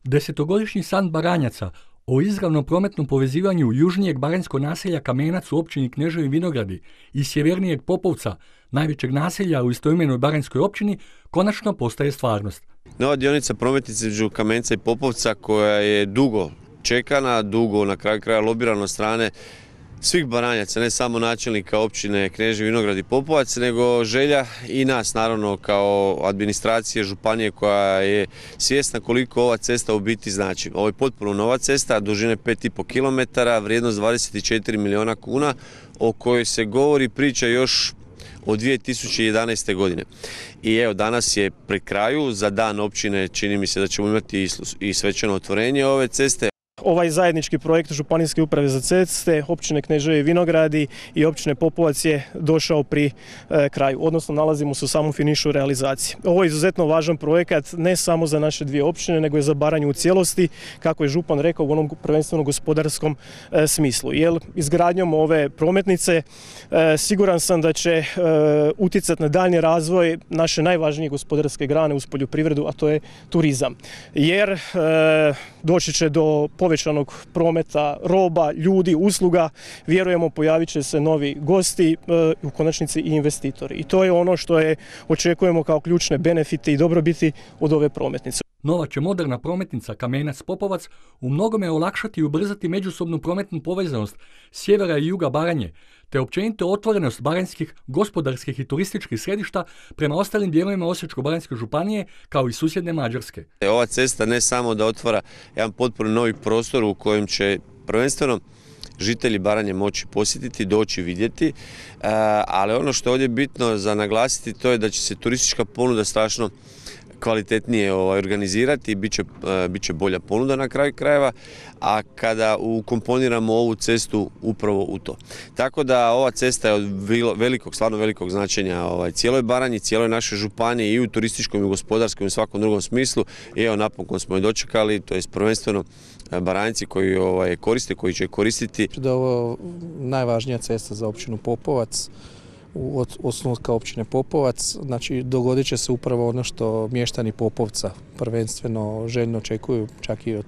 Desetogodišnji san Baranjaca o izravnom prometnom povezivanju južnijeg baranjskog naselja Kamenac u općini Kneževi Vinogradi i sjevernijeg Popovca, najvećeg naselja u istoimenoj baranjskoj općini, konačno postaje stvarnost. Nova dionica prometnice između Kamenca i Popovca koja je dugo čekana, dugo na kraju kraja lobirana od strane svih Baranjaca, ne samo načelnika općine Kneževi Vinograd i Popovac, nego želja i nas naravno kao administracije županije koja je svjesna koliko ova cesta u biti znači. Ovo je potpuno nova cesta, dužine 5,5 km, vrijednost 24 milijuna kuna, o kojoj se govori priča još od 2011. godine. I evo, danas je pri kraju, za dan općine čini mi se da ćemo imati i svečano otvorenje ove ceste. Ovaj zajednički projekt Županijske uprave za ceste, općine Kneževi Vinogradi i općine Popovac je došao pri kraju, odnosno nalazimo se u samom finišu realizacije. Ovo je izuzetno važan projekat ne samo za naše dvije općine, nego i za Baranju u cijelosti, kako je župan rekao, u onom prvenstveno gospodarskom smislu. Jer izgradnjom ove prometnice siguran sam da će utjecati na daljnji razvoj naše najvažnije gospodarske grane uz poljoprivredu, a to je turizam. Jer doći će do povećanog prometa roba, ljudi, usluga, vjerujemo pojavit će se novi gosti, u konačnici i investitori. I to je ono što očekujemo kao ključne benefite i dobrobiti od ove prometnice. Nova će moderna prometnica Kamenac-Popovac u mnogome olakšati i ubrzati međusobnu prometnu povezanost sjevera i juga Baranje, te općenito otvorenost baranjskih gospodarskih i turističkih središta prema ostalim dijelovima Osječko-baranjske županije kao i susjedne Mađarske. Ova cesta ne samo da otvara jedan potpuno novi prostor u kojem će prvenstveno žitelji Baranje moći posjetiti, doći vidjeti, ali ono što je ovdje bitno za naglasiti to je da će se turistička ponuda strašno kvalitetnije organizirati i bit će bolja ponuda na kraju krajeva, a kada ukomponiramo ovu cestu upravo u to. Tako da ova cesta je od stvarno velikog značenja cijeloj Baranji, cijeloj našoj županiji i u turističkom i gospodarskom i svakom drugom smislu. I evo, napokon smo je dočekali, to je prvenstveno Baranjci koji koriste, koji će koristiti. Da je ovo najvažnija cesta za općinu Popovac, od osnutka općine Popovac, znači dogodit će se upravo ono što mještani Popovca prvenstveno željno očekuju, čak i od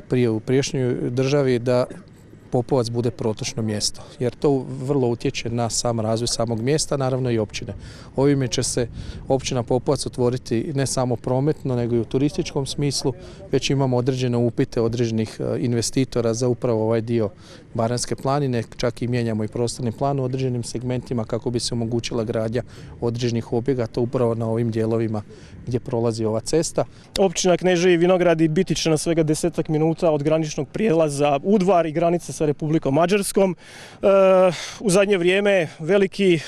prije u prijašnjoj državi, da Popovac bude protočno mjesto, jer to vrlo utječe na sam razvoj samog mjesta, naravno i općine. Ovime će se općina Popovac otvoriti ne samo prometno, nego i u turističkom smislu. Već imamo određene upite određenih investitora za upravo ovaj dio Baranjske planine, čak i mijenjamo i prostorni plan u određenim segmentima kako bi se omogućila gradnja određenih objekata upravo na ovim dijelovima gdje prolazi ova cesta. Općina Kneževi Vinogradi biti će na svega 10 minuta od graničnog prijelaza Udvar i granice sa Republikom Mađarskom. U zadnje vrijeme veliki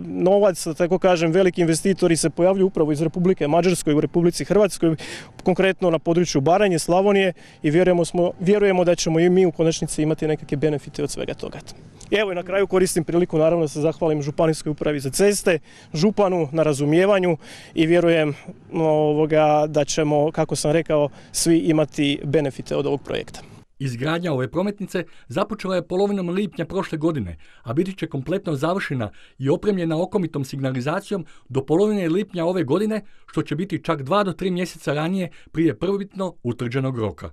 novac, tako kažem, veliki investitori se pojavljuju upravo iz Republike Mađarskoj u Republici Hrvatskoj, konkretno na području Baranje, Slavonije, i vjerujemo da ćemo i mi u konačnici imati nekakve benefite od svega toga. Evo, i na kraju koristim priliku naravno da se zahvalim Županijskoj upravi za ceste, županu na razumijevanju i vjerujem da ćemo, kako sam rekao, svi imati benefite od ovog projekta. Izgradnja ove prometnice započela je polovinom lipnja prošle godine, a biti će kompletno završena i opremljena okomitom signalizacijom do polovine lipnja ove godine, što će biti čak 2 do 3 mjeseca ranije prije prvobitno utvrđenog roka.